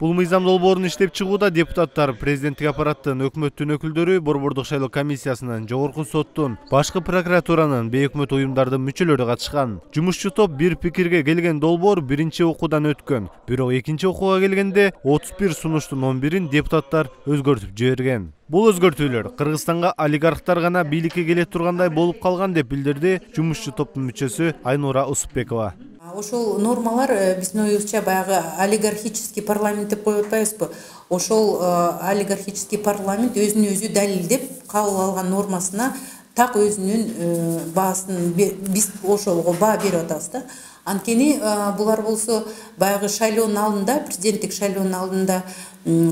Бул мыйзам долбоорун иштеп чыгууда депутаттар президенттик аппараттын, өкмөттүн өкүлдөрү, Борбордук шайлоо комиссиясынын, Жогорку соттун, башкы прокуратуранын, бейөкмөт уюмдардын мүчөлөрү катышкан. Жумушчу топ бир пикирге келген долбоор биринчи окуудан өткөн. Бирок экинчи окууга келгенде 31 сунуштун 11-ин депутаттар өзгөртүп жиберген. Бул өзгөртүүлөр Кыргызстанга олигархтар гана бийликке келе тургандай болуп калган деп билдирди жумушчу топтун мүчөсү Айнура Усупбекова. Ошол нормалар биздин оюбузча баягы олигархический парламент деп коюп атпайбызбы? Ошол олигархический парламент өзүн өзү далилдеп кабыл алган нормасына так өзүнүн баасын биз ошолго баа берип атабыз да. Анткени булар болсо баягы шайлоонун алдында, президенттик шайлоонун алдында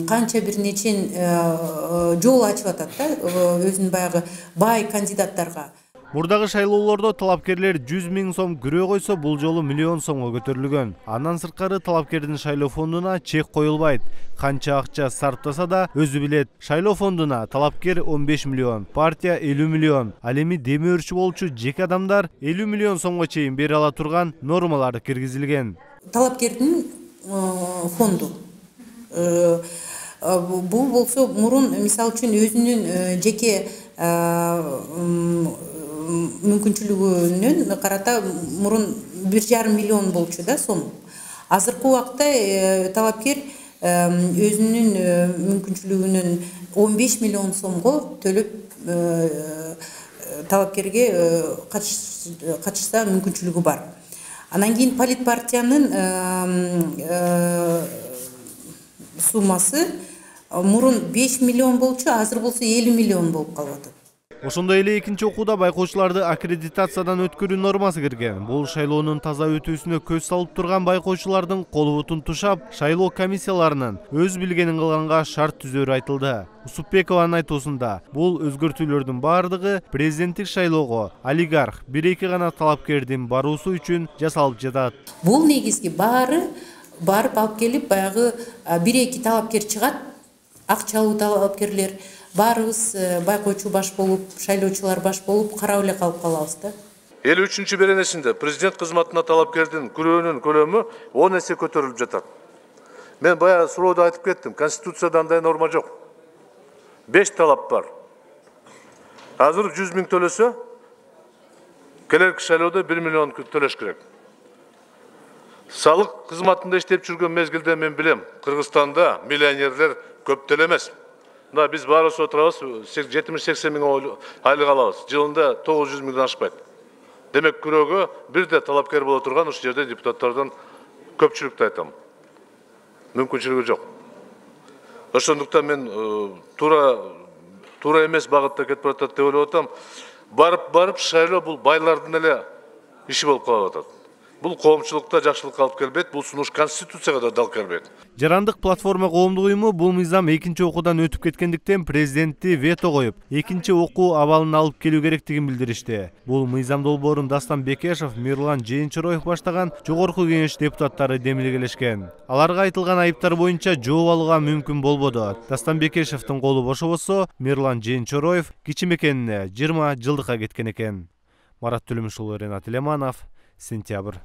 канча бир нечен жол ачып атат да, өзүнүн баягы бай кандидаттарга. Мурдагы шайлоолордо талапкерлер 100 000 сом күрөө койсо, бул жолу миллион сомго көтөрүлгөн. Андан сырткары талапкердин шайлоо фондуна чек коюлбайт. Канча акча сарптаса да өзү билет. Шайлоо фондуна талапкер 15 миллион, партия 50 миллион, ал эми деми өрчү болчу жеке адамдар 50 миллион сомго чейин бере ала турган нормалар киргизилген. Талапкердин фонду бул болсо мурун мисалы үчүн өзүнүн жеке мүмкүнчүлүгүнөн карата мурун 1,5 миллион болчу да сом. Азыркы убакта талапкер өзүнүн мүмкүнчүлүгүнөн 15 миллион сомго төлөп талапкерге катышса мүмкүнчүлүгү бар. Анан кийин политпартиянын суммасы мурун 5 миллион болчу, азыр болсо 50 миллион болуп калып атат. Ошондой эле экинчи окууда байкоочуларды аккредитациядан өткөрүү нормасы кирген. Бул шайлоонун таза өтүүсүнө көз салып турган байкоочулардын колу бутун тушап, шайлоо комиссияларынын өз билгенин кылганга шарт түзөрү айтылды. Усупбекованын айтуусунда, бул өзгөртүүлөрдүн бардыгы президенттик шайлоого олигарх 1-2 гана талапкердин баруусу үчүн жасалып жатат. Бул негизги барып алып келип, баягы 1-2 талапкер чыгат, акчалуу талапкерлер. Баарыбыз байкоочу баш болуп, шайлоочулар баш болуп, карап эле калып калабыз да. 53-чү беренесинде президент кызматына талапкердин күрөөнүн көлөмү 10 эсе көтөрүлүп жатат. Мен баягы суроодо айтып кеттим, Конституцияда андай норма жок. 5 талап бар. Азыр 100 000 төлөсө, келерки шайлоодо 1 миллион төлөш керек. Салык кызматында иштеп жүргөн мезгилде мен билем, Кыргызстанда миллионерлер көп деле эмес. Да биз баарыбыз отурабыз, 70-80 000 айлык алабыз. Жылында 900 000 ашпайт. Демек күрөөгө бирде талапкер боло турган ушул жерде депутаттардан көпчүлүктү айтам. Мүмкүнчүлүгү жок. Ошондуктан мен туура эмес багытта кетип атат деп ойлоп атам. Барып шайлоо бул байлардын эле иши болуп калып атат. Бул коомчулукта жакшылыкка алып келбейт, бул сунуш Конституцияга да дал келбейт. Жарандык платформа коомдук уюму бул мыйзам экинчи окуудан өтүп кеткендиктен президентти вето коюп, экинчи окуу абалын алып келүү керектигин билдиришти. Бул мыйзам долбоорун Дастан Бекешев, Мирлан Жээнчороев баштаган Жогорку Кеңеш депутаттары демилгелешкен. Аларга айтылган айыптар боюнча жооп алууга мүмкүн болбоду. Дастан Бекешевдин колу бошобосо, Мирлан Жээнчороев кичи мекенине 20 жылдыкка кеткен экен. Марат Төлөмүшұлы, Ренат Илеманов, Сентябрь.